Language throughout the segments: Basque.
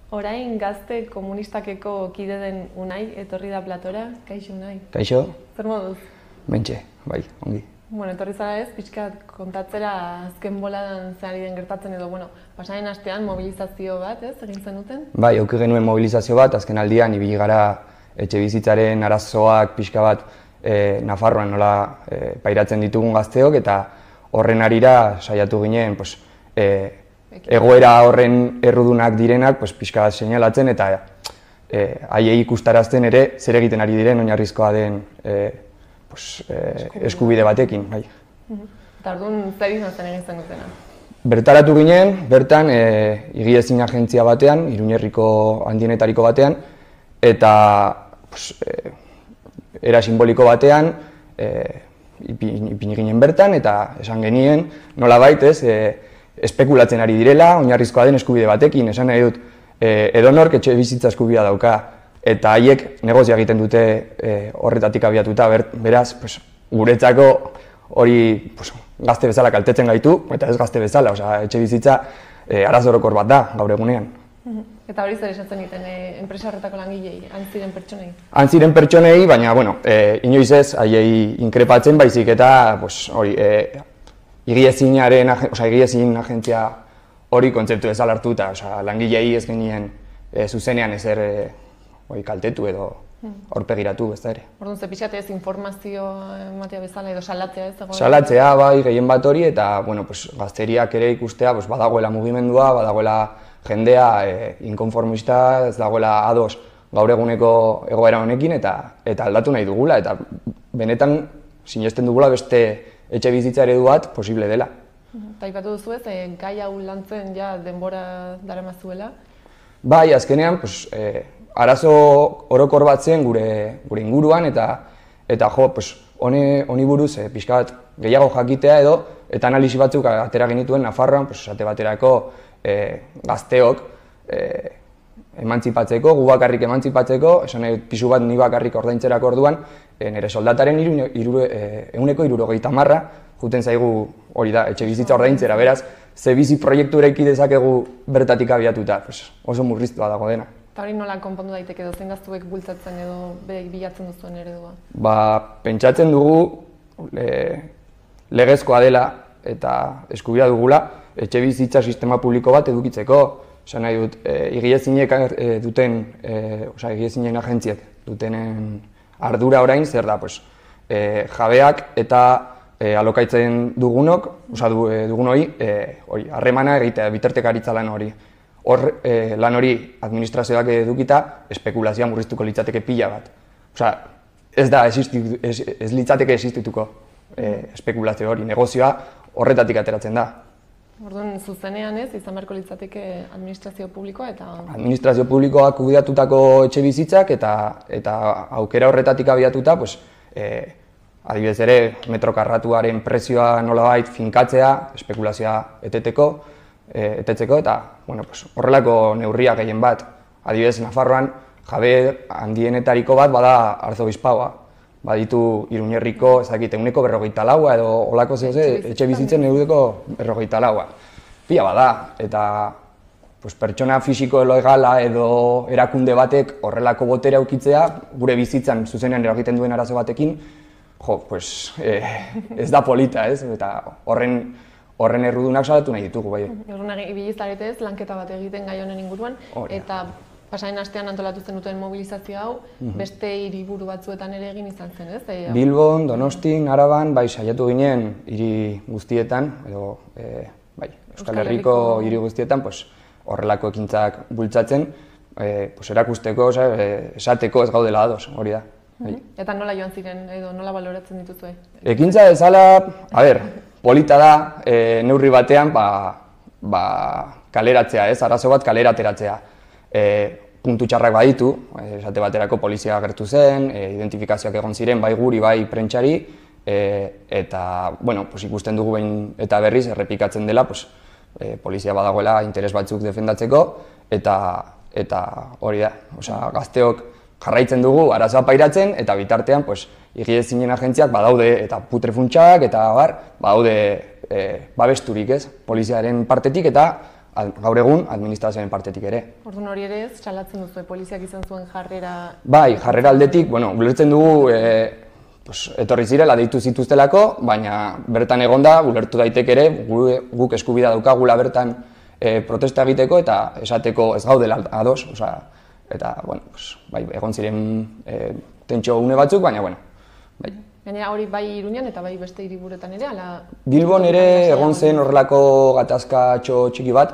Orain gazte komunistakeko kide den Unai etorri da platora. Kaixo, Unai. Kaixo? Zer moduz? Mentxe, bai, ongi. Bueno, etorri zara ez, pixkat kontatzera azken boladan zehari den gertatzen edo, pasaren astean mobilizazio bat, ez, egin zenuten? Bai, auki genuen mobilizazio bat, azken aldian ibili gara etxe bizitzaren arazoak pixka bat Nafarroan nola pairatzen ditugun gazteok, eta horren arira saiatu ginen egoera horren errudunak direnak pixka bat seinalatzen eta haiei ikustarazten ere zer egiten ari diren oinarrizkoa den eskubide batekin. Bai. Eta orduan zer izan zen egin zenutena? Bertaratu ginen, bertan higiezin agentzia batean, Iruñerriko handienetariko batean, eta era simboliko batean ipini ginen bertan eta esan genien nolabait espekulatzen ari direla oinarrizkoa den eskubide batekin, esan nahi dut edonork etxe bizitza eskubidea dauka eta haiek negozia egiten dute horretatik abiatuta, beraz guretzako hori gazte bezala kaltetzen gaitu eta ez gazte bezala, etxe bizitza arazo orokor bat da gaur egunean. Eta hori zer esatzen egiten enpresa horretako langilei, antziren pertsonei? Antziren pertsonei, baina inoiz ez haiei inkrepatzen baizik eta higiezin agentzia hori kontzeptu ezal hartu eta langilei ez genien zuzenean ezer kaltetu edo aurpegiratu, ez da ere. Orduan, ze pixkat ez informazio ematea bezala edo salatzea ez dago? Salatzea, bai, gehien bat hori eta gazteriak ere ikustea badagoela mugimendua, badagoela jendea inkonformista, ez dagoela ados gaur eguneko egoera honekin eta aldatu nahi dugula eta benetan sinesten dugula beste etxe bizitza eredu bat posible dela. Eta aipatu duzu ez, gai hau lantzen ja denbora daramazuela? Bai, azkenean arazo orokor bat zen gure inguruan eta honi buruz pixka bat gehiago jakitea edo eta analisi batzuk atera genituen Nafarroan, esate baterako gazteok emantzipatzeko, gu bakarrik emantzipatzeko, esan nahi pisu bat ni bakarrik ordaintzerako orduan, nire soldataren 160 juten zaigu hori da, etxe bizitza ordaintzera, beraz, ze bizi proiektu eraiki dezakegu bertatik abiatuta, oso murriztua dago dena. Eta hori nola konpondu daiteke edo, zein gaztuek bultzatzen edo bilatzen duzuen eredua? Pentsatzen dugu legezkoa dela eta eskubidea dugula etxe bizitza sistema publiko bat edukitzeko. Esan nahi dut, higiezinen agentziek dutenen ardura orain zer da, jabeak eta alokaitzen dugunok, dugunoi, harremana egitea, bitartekaritza lan hori. Hor lan hori administrazioak edukita, espekulazioa murriztuko litzateke pila bat. Ez litzateke existituko espekulazio hori, negozioa horretatik ateratzen da. Orduan, zuzenean ez, izan beharko litzateke administrazio publikoa eta... Administrazio publikoak kudeatutako etxe bizitzak eta aukera horretatik abiatuta, adibidez ere, metro karratuaren prezioa nolabait finkatzea, espekulazioa etetzeko eta horrelako neurriak gehien bat. Adibidez, Nafarroan jabe handienetariko bat bada Arzobispaua. Baditu Iruñerriko, ehuneko 54 edo olako etxe bizitzen ehuneko 54. Pila bada, eta pertsona fisiko legala edo erakunde batek horrelako botere aukitzea, gure bizitzan zuzenean eragiten duen arazo batekin, ez da polita, ez? Eta horren errudunak salatu nahi ditugu, bai. Orduan, ibili zarete ez, lanketa bat egiten gai honen inguruan, eta pasaren astean antolatu zenuten mobilizazio hau, beste hiriburu batzuetan ere egin izan zen, ez? Bilbon, Donostin, Araban, saiatu ginen hiri guztietan, edo Euskal Herriko hiri guztietan, horrelako ekintzak bultzatzen, erakusteko, esateko ez gaudela ados, hori da. Eta nola joan ziren, edo nola baloratzen dituzue? Ekintza bezala, polita da, neurri batean, kaleratzea, ez? Arazo bat kalera ateratzea. Puntu txarrak baditu, esate baterako polizia agertu zen, identifikazioak egon ziren bai guri, bai prentxari, eta ikusten dugu behin eta berriz errepikatzen dela polizia badagoela interes batzuk defendatzeko, eta hori da, gazteok jarraitzen dugu arazoa pairatzen, eta bitartean higiezinen agentziak badaude eta putrefuntsak eta badaude babesturik ez, poliziaren partetik eta gaur egun administrazioaren partetik ere. Orduan hori ere ez, salatzen duzu, poliziak izan zuen jarrera... Bai, jarrera aldetik, ulertzen dugu etorri zirela deitu zituztelako, baina bertan egonda, ulertu daiteke ere, guk eskubidea daukagula bertan protesta egiteko eta esateko ez gaudela ados, eta, egon ziren tentsio une batzuk, baina, bai. Gainera hori bai Iruñan eta bai beste hiriburuetan ere, ala... Bilbon ere egon zen horrelako gatazkatxo txiki bat,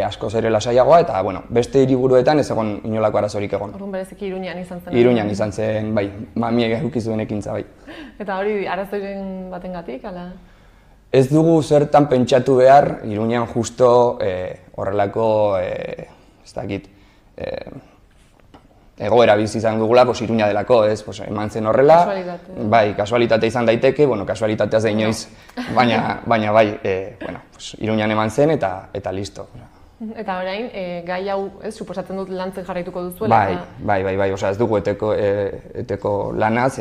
askoz ere lasaiagoa, eta, beste hiriburuetan ez egon inolako arazorik egon. Orduan bereziki Iruñan izan zen. Iruñan izan zen, bai, mamiek eduki zuen ekintza, bai. Eta hori arazoiren batengatik, ala? Ez dugu zertan pentsatu behar, Iruñan justo horrelako, ez dakit, egoera bizi izan dugula, Iruña delako, eman zen horrela. Kasualitate. Bai, kasualitate izan daiteke, kasualitatea zein inoiz, baina bai, Iruñan eman zen eta listo. Eta orain, gai hau, suposatzen dut lantzen jarraituko duzuela? Bai, ez dugu eteko lanaz,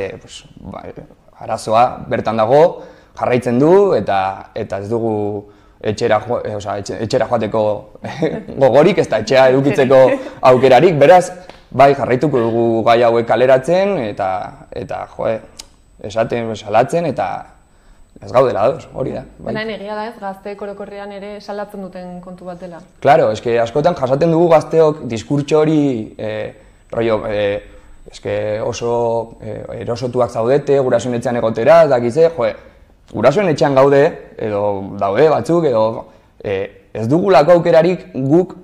arazoa bertan dago, jarraitzen du, eta ez dugu etxera joateko gogorik, ez da etxea edukitzeko aukerarik, beraz, bai, jarraituko dugu gai hauek kaleratzen, eta esaten, salatzen, eta ez gaudela ados, hori da. Baina egia da ez, gazte orokorrean ere salatzen duten kontu bat dela. Claro, askotan jasaten dugu gazteok diskurtso hori, oso erosotuak zaudete, gurasoen etxean egotera, dakize, gurasoen etxean gaude, edo daude batzuk, edo ez dugulako aukerarik guk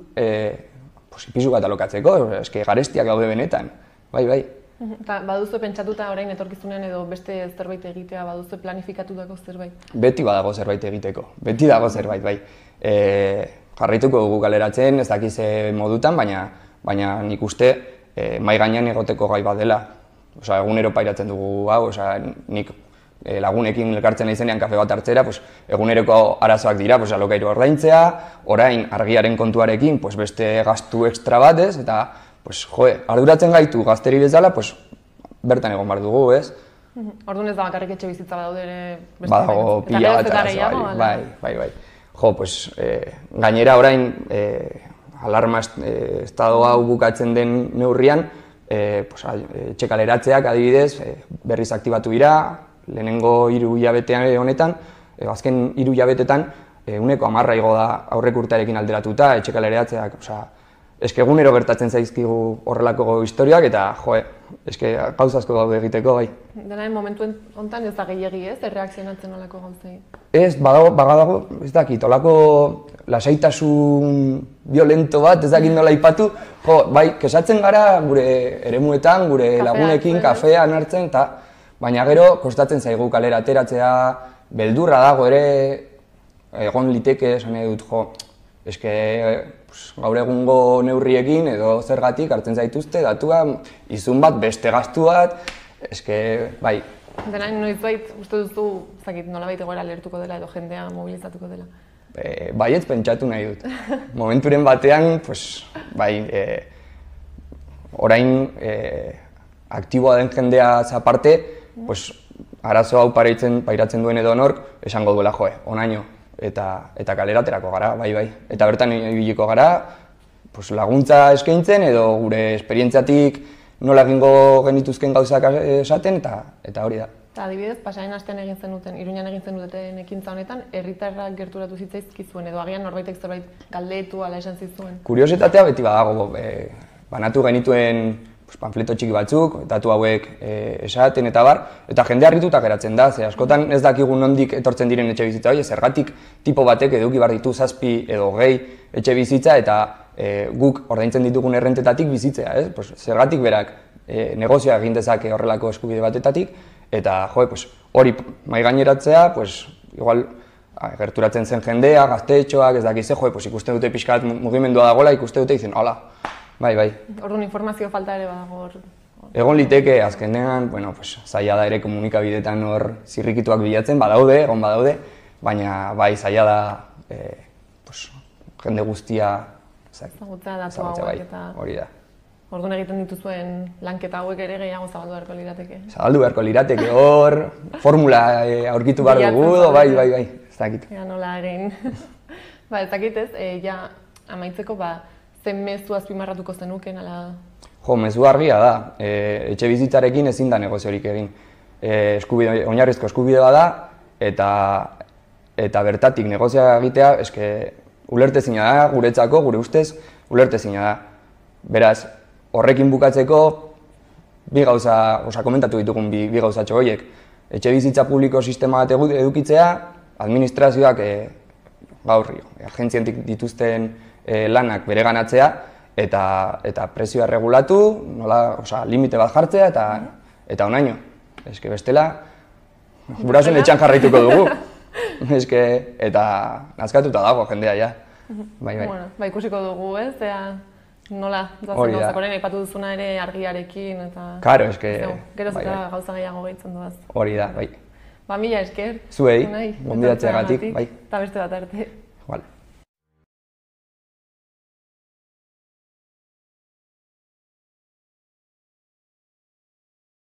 pisu bat alokatzeko, garestiak gaude benetan, bai. Eta baduzu pentsatuta orain etorkizunean edo beste zerbait egitea, baduzu planifikatutako zerbait? Beti badago zerbait egiteko, beti dago zerbait, bai. Jarraituko dugu galeratzen, ez dakize modutan, baina nik uste mahai gainean egoteko gai bat dela. Egunero pairatzen dugu hau, nik lagunekin elkartzen naizenean kafe bat hartzera, eguneroko arazoak dira, alokairu ordaintzea, orain argiaren kontuarekin beste gastu extra bat, eta arduratzen gaitu gazteri bezala, bertan egon behar dugu, ez? Orduan ez da bakarrik etxe bizitza badaude ere... Badago pila bat arazo, bai. Gainera orain, alarma estado hau bukatzen den neurrian, etxe kaleratzeak adibidez, berriz aktibatu dira, lehenengo 3 hilabetean honetan, azken 3 hilabetetan, 110 igo da aurrek urtearekin alderatuta, etxe kaleratzeak, egunero gertatzen zaizkigu horrelako historiak, eta gauza asko daude egiteko, bai. Denaren momentu honetan ez da gehiagi ez, erreakzionatzen olako gauzei? Ez, badago, ez dakit, olako lasaitasun violento bat, ez dakit nola ipatu, bai, kesatzen gara gure eremuetan, gure lagunekin, kafean hartzen, baina gero kostatzen zaigu kalera ateratzea, beldurra dago ere, egon liteke, esan nahi dut, gaur egungo neurriekin edo zergatik hartzen zaituzte, datua, izun bat, beste gastu bat, bai. Denain noizbait, uste duzu, nolabait egoera lertuko dela edo jendea mobilizatuko dela? Baietz pentsatu nahi dut. Momenturen batean, bai, orain aktiboa den jendea aparte, arazo hau pairatzen duen edo nork, esango duela onaino. Eta kaleraterako gara, bai. Eta bertan ibiliko gara, laguntza eskaintzen edo gure esperientziatik nola egingo genituzken gauzak esaten, eta hori da. Eta adibidez, pasaren astean egin zenuten, Iruñan egin zenuten ekintza honetan, herritarrak gerturatu zitzaizkizuen edo agian norbaitek zerbait galdetu ala esan zizuen? Kuriositatea beti badago, banatu genituen panfleto txiki batzuk, datu hauek esaten eta bar, eta jende harrituta geratzen da, ze askotan ez dakigun nondik etortzen diren etxe bizitza hori, zergatik tipo batek eduki behar ditu 7 edo 8 etxe bizitza eta guk ordaintzen ditugun errentetatik bizitzea, zergatik berak negozioa egin dezake horrelako eskubide batetatik, eta hori mahai gaineratzea, igual gerturatzen zen jendea, gaztetxoak, ez dakize, ikusten dute pixka bat mugimendua dagoela, ikusten dute izen, hola, bai. Orduan informazio falta ere badago? Egon liteke, azkenean, zaila da ere komunikabideetan hor zirrikituak bilatzen, egon badaude, baina bai, zaila da jende guztia ezagutzea datu hauek eta... Hori da. Orduan egiten dituzuen lanketa hauek ere gehiago zabaldu beharko lirateke? Zabaldu beharko lirateke, hor, formula aurkitu behar dugu, bai, ez dakit. Ea nola egin. Ez dakit ez, amaitzeko, zen mezu azpimarratuko zenuken, ala... Jo, mezu argia da, etxe bizitzarekin ezin da negoziorik egin. Oinarrizko eskubide bada, eta bertatik negozioa egitea, eske ulertezina da, guretzako, gure ustez, ulertezina da. Beraz, horrekin bukatzeko, bi gauza, komentatu ditugun bi gauzatxo horiek. Etxe bizitza publiko sistema bat edukitzea, administrazioak gaur, agentzientik dituzten lanak bereganatzea, eta prezioa regulatu, limite bat jartzea, eta onaino. Eske bestela, gurasoen etxean jarraituko dugu. Eta nazkatuta dago jendea, ja. Ba, ikusiko dugu, ez? Nola, doazen gauzak horren aipatu duzuna ere argiarekin, eta... Karo, eske... Geroz eta gauza gehiago gehitzen duaz. Hori da, bai. Ba, mila esker. Zuei, gonbidatzeagatik, bai. Eta beste bat arte.